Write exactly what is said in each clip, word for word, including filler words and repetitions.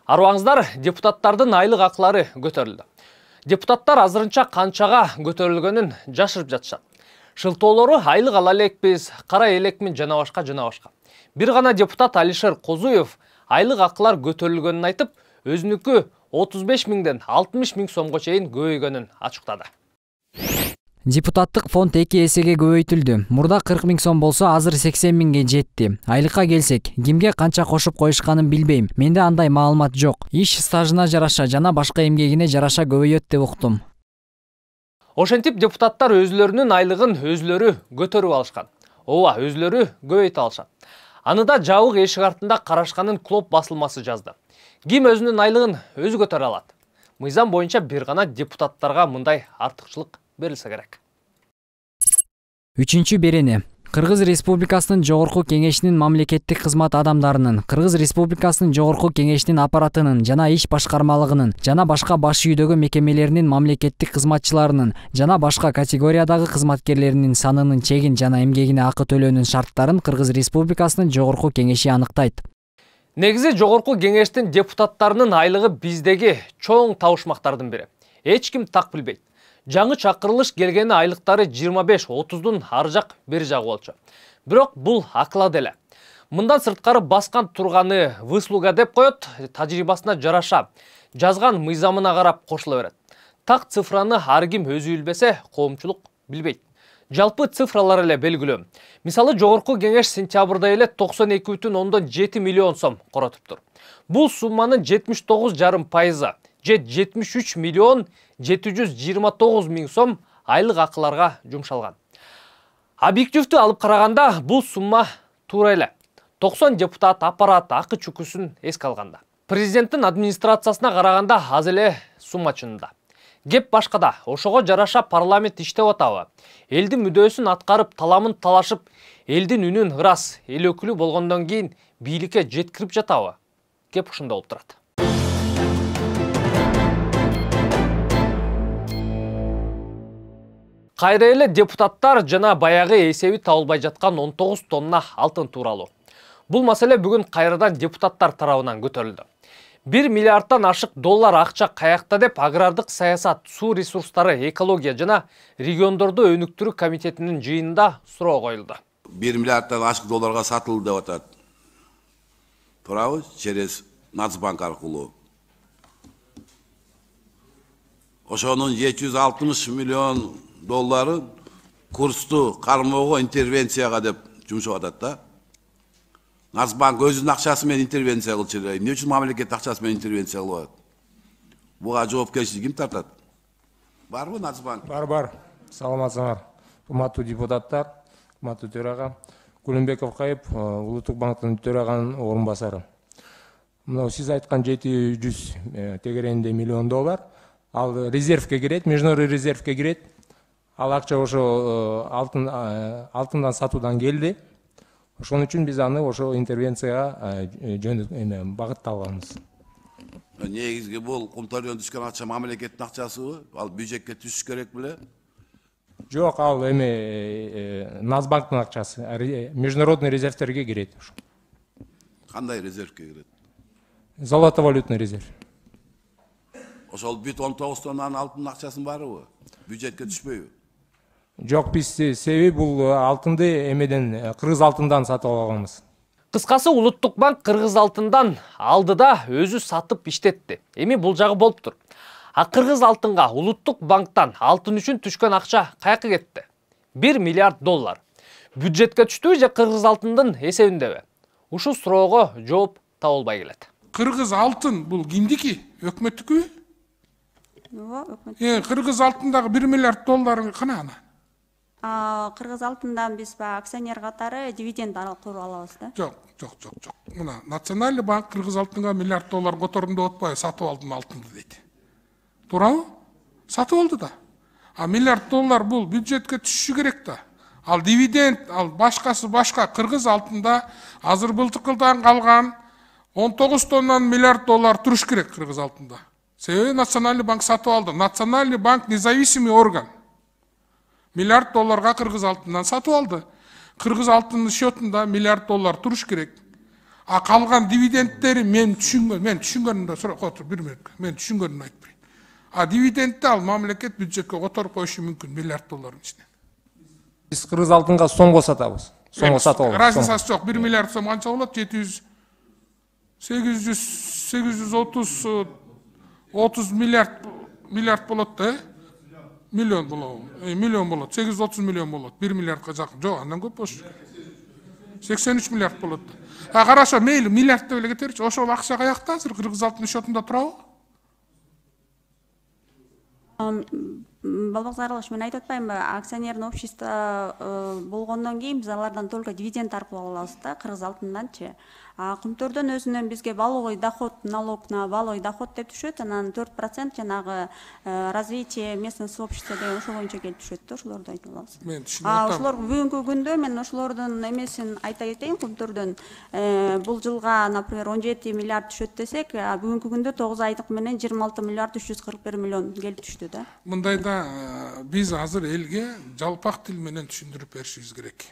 Арыбаңыздар, депутаттардын айлык акылары көтөрүлдү. Депутаттар азырынча канчага көтөрүлгөнүн жашырып жатышат. Шылтоолору айлык ала элекпиз, кара элекмин жана башка жана башка. Бир гана депутат Алишер Козуев айлык акылар көтөрүлгөнүн айтып, өзүнүкү отуз беш миңден алтымыш миң сомго чейин көбөйгөнүн ачыктады. Депутаттык фонд эки эсеге көбөйтүлдү. Мурда кырк миң сом болсо, азыр сексен миңге жетти. Айлыкка келсек, кимге канча кошуп коюшканын билбейм. Менде андай маалымат жок. Иш стажына жараша жана башка эмгегине жараша көбөйөт деп уктум. Ошентип депутаттар өзлөрүнүн айлыгын өзлөрү көтөрүп алышкан. Ооба, өзлөрү көбөйтө алышат. Аны да жабык эшик артында карашканын Клоп басылмасы жазды. Ким өзүнүн айлыгын өзү көтөрө алат? Мыйзам боюнча бир гана депутаттарга мындай артыкчылык берилсе керек. Үчүнчү берени. Кыргыз Республикасынын Жогорку Кеңешинин мамлекеттик кызмат адамдарынын, Кыргыз Республикасынын Жогорку Кеңешинин аппаратынын жана иш башкармалыгынын жана башка баш үйдөгү мекемелеринин мамлекеттик кызматчыларынын жана башка категориядагы кызматкерлеринин санынын чегин жана эмгегине акы төлөөнүн шарттарын Кыргыз Республикасынын Жогорку Кеңеши аныктайт. Негизи Жогорку Кеңештин депутаттарынын айлыгы биздеги чоң табышмактардын бири. Эч ким так билбейт. Жаңы чакырылыш келгени айлыктары жыйырма беш отуздун ар жак бери жагы болчу. Бирок бул аклады эле. Мындан сырткары баскан турганы выслуга деп коет, тажрыйбасына жараша жазган мыйзамына карап кошула берет. Так цифраны ар ким өзү билбесе, коомчулук билбейт. Жалпы цифралар эле белгилүү. Мисалы, Жогорку Кеңеш сентябрда эле токсон эки бүтүн ондон жети миллион сом коротуптур. Бул сумманын жетимиш тогуз жарым пайызы же жетимиш үч миллион жети жүз жыйырма тогуз миң сом айлык акыларга жумшалган. Объективдүү алып караганда бул сумма туура эле. токсон депутат аппарат акы чүкүсүн эске алганда. Президенттин администрациясына караганда аз эле сумма чынында. Кеп башкада, ошого жараша парламент иштеп атабы? Элдин мүдөөсүн аткарып, таламын талашып, элдин үнүн ырас, эл өкүлү болгондон кийин бийликке жеткирип жатабы? Кеп ушунда болуп турат. Кайра эле депутаттар жана баягы эсеби табылбай жаткан он тогуз тонна алтын тууралуу. Бул маселе бүгүн кайрадан депутаттар тарабынан көтөрүлдү. бир миллиардтан ашык доллар акча каякта деп агрардык саясат, суу ресурстары, экология жана региондорду өнүктүрүү комитетинин жыйынында суроо коюлду. бир миллиардтан ашык долларга сатылды деп атат. Туурабы? Через Нацбанк аркылуу. Ошонун жети жүз алтымыш миллион долларын курсту кармоого интервенцияга деп жумшап атат да. Нацбанк өзүнүн акчасы менен интервенция кылчу эле. Эмне үчүн мамлекет акчасы менен интервенция кылып атат? Буга жоопкерчилик ким тартат? Барбы Нацбанк? Бар, бар. Саламатсыңар. Урматтуу депутаттар, урматтуу төрага. Кулунбеков Кайып, Улуттук банктын төраганын орун басары. Мына сиз айткан жети жүз тегеренде миллион доллар ал резервке кирет, международный резервке кирет. Ал акча ошо алтын алтындан сатуудан келди. Ошон үчүн биз аны ошо интервенцияга жөн багытталганбыз. Негизги бул кумтөрдөн түшкөн акча мамлекеттин акчасыбы? Ал бюджетке түшүш керек беле? Жок, ал эме Нацбанктын акчасы, международный резервтерге кирет. Кандай резервке кирет? Золотовалютный резерв. Ошол бүт он тогуз тоннанын алтын акчасын барыбы? Бюджетке түшпөйбү? Жок, биз себеби бул алтынды эмеден, кыргыз алтындан сатып алганбыз. Кыскасы, Улуттук банк кыргыз алтындан алды да өзү сатып иштетти. Эми бул жагы болуптур. А кыргыз алтынга Улуттук банктан алтын үчүн түшкөн акча каяка кетти? бир миллиард доллар. Бюджетке түштүбү же кыргыз алтындын эсебиндеби? Ушул суроого жооп табылбай келет. Кыргыз алтын бул кимдики? Өкмөттүкүбү? Ооба, өкмөт. Э, кыргыз алтындагы бир миллиард доллар кана ана? Кыргыз алтындан биз ба акционер катары дивиденд аркылуу алабыз да. Жок, жок, жок, жок. Мына Национальный банк кыргыз алтынга миллиард доллар котордум деп атпайбы, сатып алдым алтынды дейт. Туурабы? Сатып алды да. А миллиард доллар бул бюджетке түшүшү керек да. Ал дивиденд, ал башкасы башка. Кыргыз алтында азыр былтыркыдан калган он тогуз тоннан миллиард доллар туруш керек кыргыз алтында. Себеби Национальный банк сатып алды. Национальный банк независимый орган. Миллиард долларга кыргыз алтындан сатып алды. Кыргыз алтынын счетунда миллиард доллар туруш керек. А калган дивидендтери мен түшүнгөн, мен түшүнгөнүмдө сурап отуруп бир мүнөткө, мен түшүнгөнүмдү айтып берейин. А дивидендти ал мамлекет бюджетке которуп коюшу мүмкүн миллиард доллардын ичинен. Биз кыргыз алтынга сомго сатабыз. Сомго сатып алабыз. Разницасы жок. бир миллиард сом канча болот? жети жүз сегиз жүз сегиз жүз отуз отуз миллиард миллиард болот да, э? Миллион болот. Миллион болот. сегиз жүз отуз миллион болот. бир миллиардка жакын. Жок, андан көп болчу. сексен үч миллиард болот. А караша, мейли миллиард деп эле кетеричи. Ошол акча каякта азыр кыргыз алтын счетунда турабы? Балбак Зарылович, мен айтып атпаймынбы, акционерный общество болгондон кийин биз алардан только дивиденд таркып алабыз да, кыргыз алтынданчы. А Кумтөрдөн өзүнөн бизге валовый доход, налог на валовый доход деп түшөт, анан төрт процент жанагы развитие местного сообщества деген ошол боюнча келип түшөт да, ошолорду айтып алабыз. Мен түшүнүп А атам. ошолор бүгүнкү күндө мен ошолордун эмесин айта кетейин, Кумтөрдөн бул жылга, например, он жети миллиард түшөт десек, бүгүнкү күндө тогуз айдык менен жыйырма алты миллиард үч жүз кырк бир миллион келип түштү да. Мындайда биз азыр элге жалпак тил менен түшүндүрүп беришибиз керек.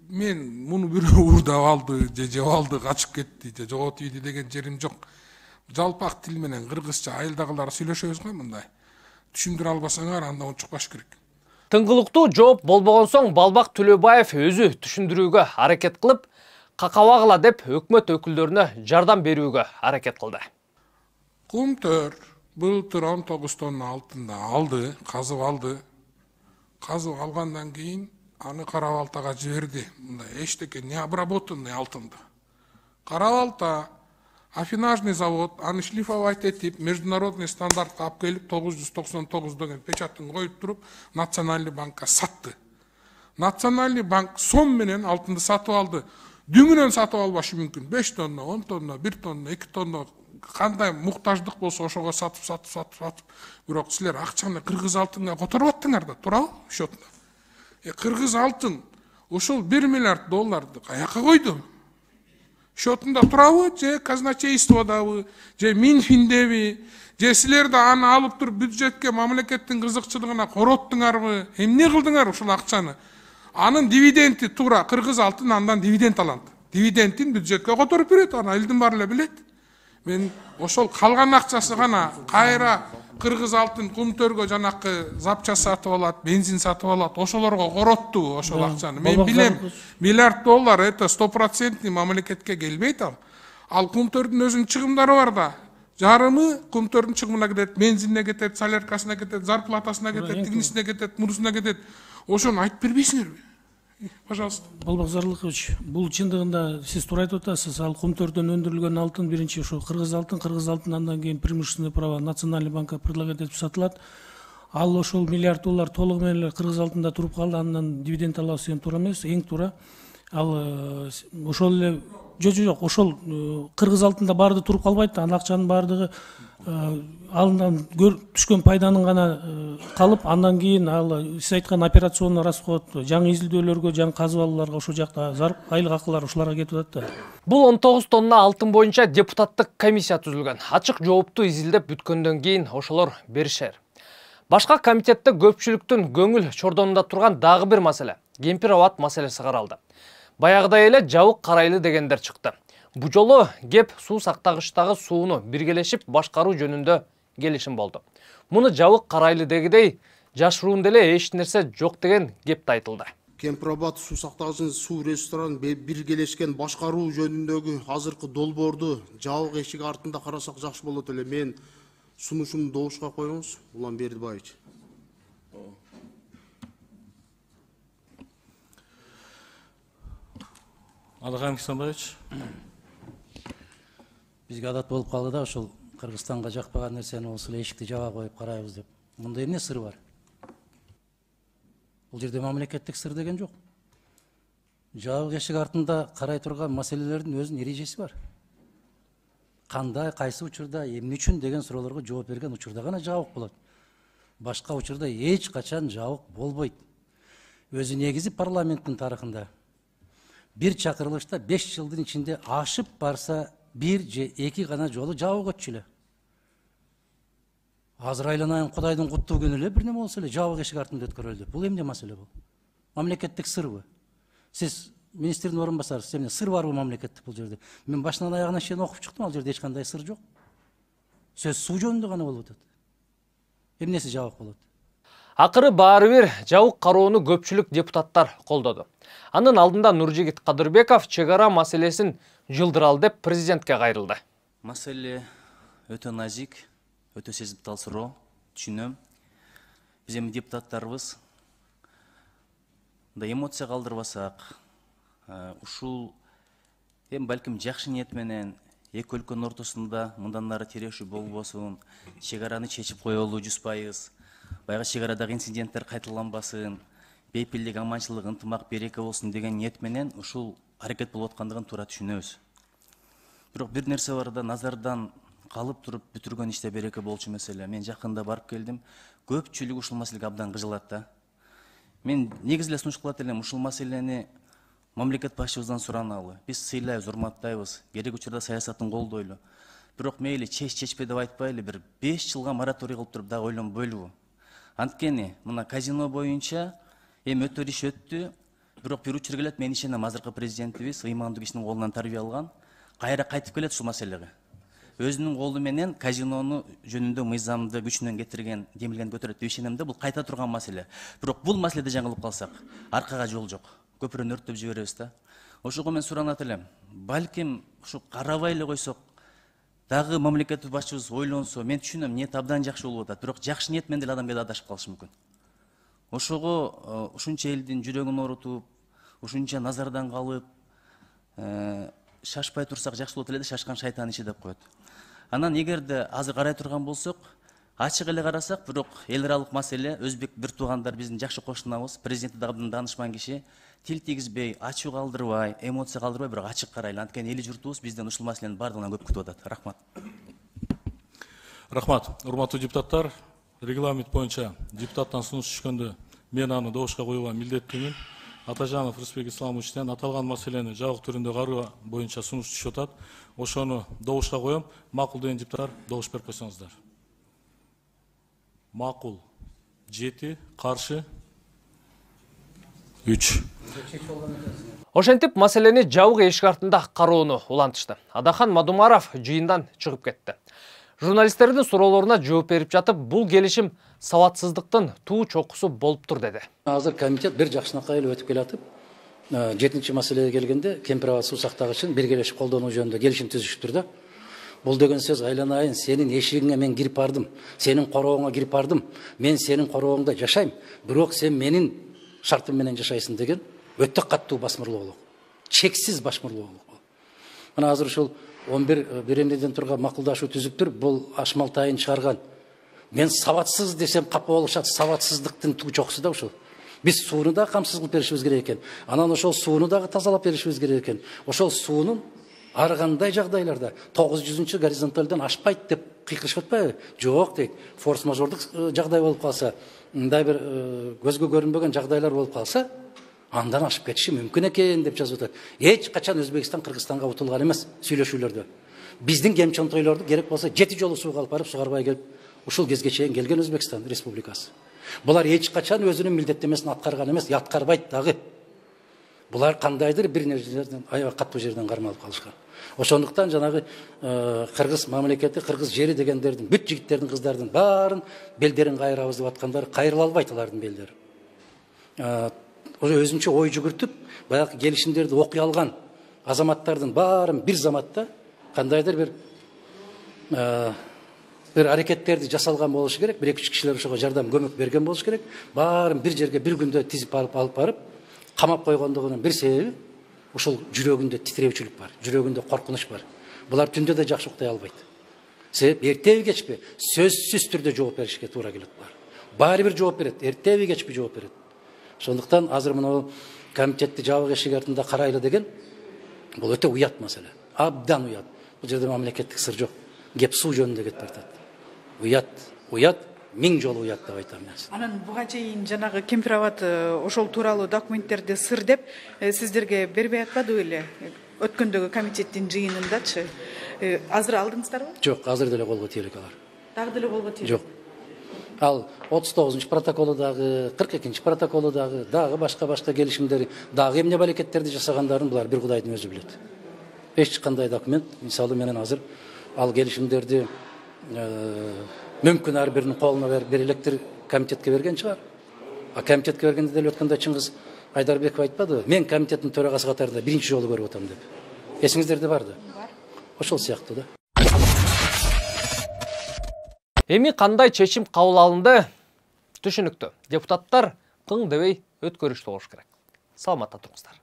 Мен муну бирөө уурдап алды, же жеп алды, качып кетти, же жоготуп ийди деген жерим жок. Жалпак тил менен кыргызча айылдагылар сүйлөшөбүз го мындай. Түшүндүрө албасаңар анда унчукпаш керек. Тыңгылыктуу жооп болбогон соң Балбак Төлөбаев өзү түшүндүрүүгө аракет кылып, какабагыла деп өкмөт өкүлдөрүнө жардам берүүгө аракет кылды. Кумтөр былтыр он тогуз тонна алтынды алды, казып алды. Казып алгандан кийин аны Кара Балтага жиберди. Мындай эчтеке не обработанный алтынды. Кара Балта афинажный завод аны шлифовать этип, международный стандартка алып келип тогуз жүз токсон тогуз деген печатын коюп туруп, Национальный банкка сатты. Национальный банк сом менен алтынды сатып алды. Дүңүнөн сатып албашы мүмкүн. беш тонна, он тонна, бир тонна, эки тонна кандай муктаждык болсо ошого сатып, сатып, сатып, сатып. Бирок силер акчаны кыргыз алтынга которуп аттыңар да, туурабы? Счетунда. Э, кыргыз алтын ошол бир миллиард долларды каяка койду? Счетунда турабы, же казначействодабы, же Минфиндеби, же силер да аны алып туруп бюджетке, мамлекеттин кызыкчылыгына короттуңарбы? Эмне кылдыңар ошол акчаны? Анын дивиденти туура кыргыз алтын андан дивиденд алат. Дивидендин бюджетке которуп берет, аны элдин баары эле билет. Мен ошол калган акчасы гана кайра кыргыз алтын Кумтөргө жанакы запча сатып алат, бензин сатып алат, ошолорго коротту ошол акчаны. Мен билем, миллиард доллар это сто процентный мамлекетке келбейт ал. Ал Кумтөрдүн өзүнүн чыгымдары бар да. Жарымы Кумтөрдүн чыгымына кетет, бензинине кетет, соляркасына кетет, зарплатасына кетет, тигинисине кетет, мурусуна кетет. Ошону айтып бербейсиңерби? Пожалуйста. Балбак Зарылович, бул чындыгында сиз туура айтып атасыз. Ал Кумтөрдөн өндүрүлгөн алтын биринчи ошо кыргыз алтын, кыргыз алтын андан кийин преимущественное право Национальный банкка предлагать этип сатылат. Ал ошол миллиард доллар толугу менен эле кыргыз алтында туруп калды, андан дивиденд алабыз деген туура эмес, эң туура. Ал ошол эле жок жок ошол кыргыз алтында баардыгы туруп калбайт, анын акчанын баардыгы алындан түшкөн пайданын гана калып, андан кийин ал сиз айткан операционный расход, жаңы изилдөөлөргө, жаңы казып алууларга ошол жакта айлык акылар ушуларга кетип атат да. Бул он тогуз тонна алтын боюнча депутаттык комиссия түзүлгөн. Ачык жоопту изилдеп бүткөндөн кийин ошолор беришер. Башка комитетте көпчүлүктүн көңүл чордонунда турган дагы бир маселе — кемпир абат маселеси каралды. Баягыдай эле жабык карайлы дегендер чыкты. Бу жолу кеп суу сактагычтагы сууну биргелешип башкаруу жөнүндө келишим болду. Муну жабык карайлы дегидей жашыруун деле эч нерсе жок деген кеп да айтылды. Кемпир абад суу сактагычын суу ресторан биргелешкен башкаруу жөнүндөгү азыркы долбоорду жабык эшик артында карасак жакшы болот эле. Мен сунушумду добушка коюңуз, Улан Бердибаевич. Алакан Кисанбаевич. Бизге адат болуп калды да, ошол Кыргызстанга жакпаган нерсени болсо эле эшикти жаба коюп карайбыз деп. Мында эмне сыр бар? Бул жерде мамлекеттик сыр деген жок. Жабык эшик артында карай турган маселелердин өзүнүн эрежеси бар. Кандай, кайсы учурда, эмне үчүн деген суроолорго жооп берген учурда гана жабык болот. Башка учурда эч качан жабык болбойт. Өзү негизи парламенттин тарыхында бир чакырылышта беш жылдын ичинде ашып барса бир же эки гана жолу жабык өтчү эле. Азыр айланайын Кудайдын куттуу күнү эле бир неме болсо эле жабык эшик артында өткөрүлдү. Бул эмне маселе бул? Мамлекеттик сырбы? Сиз министрдин орун басары, эмне сыр барбы мамлекетте бул жерде? Мен башынан аягына чейин окуп чыктым, ал жерде эч кандай сыр жок. Сөз суу жөнүндө гана болуп атат. Эмнеси жабык болот? Акыры баары бир жабык кароону көпчүлүк депутаттар колдоду. Анын алдында Нуржигит Кадырбеков чек ара маселесин жылдыралы деп президентке кайрылды. Маселе өтө назик, өтө сезиптал суроо, түшүнөм. Биз эми депутаттарыбыз да эмоция калдырбасак, ушул эми балким жакшы ниет менен эки өлкөнүн ортосунда мындан ары тирешүү болбосун, чек араны чечип коелу жүз пайыз, баягы чек арадагы инциденттер кайталанбасын, бейпилдик, аманчылык, ынтымак, береке болсун деген ниет менен ушул аракет болуп аткандыгын туура түшүнөбүз. Бирок бир нерсе бар да, назардан калып туруп бүтүргөн иште береке болчу маселе. Мен жакында барып келдим. Көпчүлүк ушул маселеге абдан кыжылат да. Мен негизи эле сунуш кылат элем, ушул маселени мамлекет башчыбыздан сураналы. Биз сыйлайбыз, урматтайбыз, керек учурда саясатын колдойлу. Бирок мейли чеч чечпе деп айтпайлы, бир беш жылга мораторий кылып туруп дагы ойлонбойлубу? Анткени мына казино боюнча эми өтөр иш өттү. Бирок бир учур келет, мен ишенем, азыркы президентибиз ыймандуу кишинин колунан тарбия алган, кайра кайтып келет ушул маселеге. Өзүнүн колу менен казинону жөнүндө мыйзамды күчүнөн кетирген, демилген көтөрөт деп ишенем да, бул кайта турган маселе. Бирок бул маселеде жаңылып калсак, аркага жол жок. Көпүрөнү өрттөп жиберебиз да. Ошого мен суранат элем. Балким ушу карабай эле койсок, дагы мамлекет башчыбыз ойлонсо, мен түшүнөм, ниет абдан жакшы болуп атат. Бирок жакшы ниет менен деле адам кээде адашып калышы мүмкүн. Ошого ушунча элдин жүрөгүн оорутуп, ушунча назардан калып, шашпай турсак жакшы болот эле, шашкан шайтан иши деп коет. Анан эгерде азыр карай турган болсок, ачык эле карасак, бирок эл аралык маселе, өзбек бир туугандар биздин жакшы кошунабыз, президенти дагы даанышман киши, тил тийгизбей, ачуу калдырбай, эмоция калдырбай, бирок ачык карайлы. Анткени эли журтубуз бизден ушул маселенин бардыгынан көп күтүп атат. Рахмат. Рахмат. Урматтуу депутаттар, регламент боюнча депутаттан сунуш түшкөндө мен аны добушка коюуга милдеттүүмүн. Атажанов Рысбек Исламовичтен аталган маселени жабык түрүндө кароо боюнча сунуш түшүп атат. Ошону добушка коем. Макул деген депутаттар добуш берип койсоңуздар. Макул жети, каршы үч. Ошентип маселени жабык эшик артында кароону улантышты. Адахан Мадумаров жыйындан чыгып кетти. Журналисттердин суроолоруна жооп берип жатып, бул келишим сабатсыздыктын туу чокусу болуптур деди. Азыр комитет бир жакшынакай эле өтүп келатып, жетинчи маселеге келгенде кемпир аба суу сактагычын биргелешип колдонуу жөнүндө келишим түзүшүптүр да. Бул деген сөз айланайын, сенин эшигиңе мен кирип бардым, сенин корооңа кирип бардым, мен сенин корооңда жашайм, бирок сен менин шартым менен жашайсың деген өтө каттуу басмырлоолук, чексиз басмырлоолук. Мына азыр ушул он бир беренеден турган макулдашуу түзүптүр, бул Ашмалтайын чыгарган. Мен сабатсыз десем капа болушат, сабатсыздыктын туу чокусу да ушул. Биз сууну да камсыз кылып беришибиз керек экен. Анан ошол сууну дагы тазалап беришибиз керек экен. Ошол суунун ар кандай жагдайларда тогуз жүзүнчү горизонталдан ашпайт деп кыйкырышып атпайбы? Жок дейт. Форс-мажордук жагдай болуп калса, мындай бир көзгө көрүнбөгөн жагдайлар болуп калса, андан ашып кетиши мүмкүн экен деп жазып атат. Эч качан Өзбекстан Кыргызстанга утулган эмес сүйлөшүүлөрдө. Биздин кемчонтойлорду керек болсо жети жолу сууга алып барып сугарбай келип, ушул кезге чейин келген Өзбекстан Республикасы. Булар эч качан өзүнүн милдеттемесин аткарган эмес, аткарбайт дагы. Булар кандайдыр бир нерселерден аябай каттуу жерден кармалып калышкан. Ошондуктан жанагы кыргыз мамлекети, кыргыз жери дегендердин, бүт жигиттердин, кыздардын баарын белдерин кайрабыз деп аткандар кайрыла албайт алардын белдери. Өзүнчө ой жүгүртүп, баягы келишимдерди окуй алган азаматтардын баарын бир заматта кандайдыр бир бир аракеттерди жасалган болушу керек, бир эки үч кишилер ошого жардам көмөк берген болушу керек. Баарын бир жерге бир күндө тизип алып алып барып, камап койгондугунун бир себеби ушул жүрөгүндө титирөөчүлүк бар, жүрөгүндө коркунуч бар. Булар түндө да жакшы уктай албайт. Себеп эртеби кечпи сөзсүз түрдө жооп беришке туура келет булар. Баары бир жооп берет, эртеби кечпи жооп берет. Ошондуктан азыр мына комитетти жабык эшик артында карайлы деген бул өтө уят маселе. Абдан уят. Бул жерде мамлекеттик сыр жок. Кеп суу жөнүндө кетип атат. Уят, уят, миң жолу уят деп айтам мен. Анан буга чейин жанагы кемпир абад ошол тууралуу документтерди сыр деп сиздерге бербей атпады беле? Өткөндөгү комитеттин жыйынындачы. Азыр алдыңыздарбы? Жок, азыр деле колго тийет алар. Дагы деле колго тийет. Жок. Ал отуз тогузунчу протоколу дагы, кырк экинчи протоколу дагы, дагы башка башка келишимдер, дагы эмне балекеттерди жасагандарын булар бир Кудайдын өзү билет. Эч кандай документ, мисалы менен азыр ал келишимдерди мүмкүн ар биринин колуна берип электир комитетке берген чыгар. А комитетке бергенде деле өткөндө Чыңгыз Айдарбеков айтпадыбы? Мен комитеттин төрагасы катарында биринчи жолу көрүп атам деп. Эсиңиздерде барды? Бар. Ошол сыяктуу да. Эми кандай чечим кабыл алынды? Түшүнүктүү. Депутаттар кың дебей өткөрүштүү болуш керек. Саламатта туруңуздар.